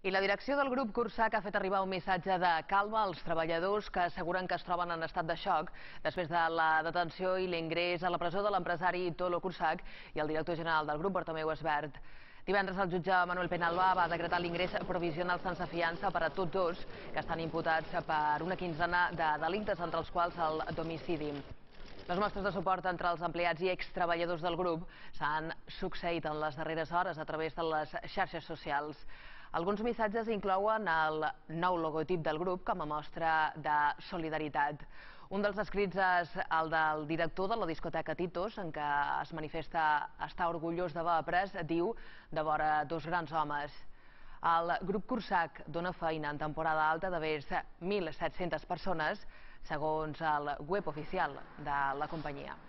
I la direcció del grup Cursac ha fet arribar un missatge de calma als treballadors que asseguren que es troben en estat de xoc després de la detenció i l'ingrés a la presó de l'empresari Tolo Cursac i el director general del grup, Bartomeu Esbert. Divendres el jutge Manuel Penalba va decretar l'ingrés provisional sense fiança per a tots dos, que estan imputats per una quinzena de delictes, entre els quals el d'homicidi. Les mostres de suport entre els empleats i extreballadors del grup s'han succeït en les darreres hores a través de les xarxes socials. Alguns missatges inclouen el nou logotip del grup com a mostra de solidaritat. Un dels escrits és el del director de la discoteca Titos, en què es manifesta estar orgullós d'haver après, diu, de vora dos grans homes. El grup Cursac dona feina en temporada alta de més 1.700 persones, segons el web oficial de la companyia.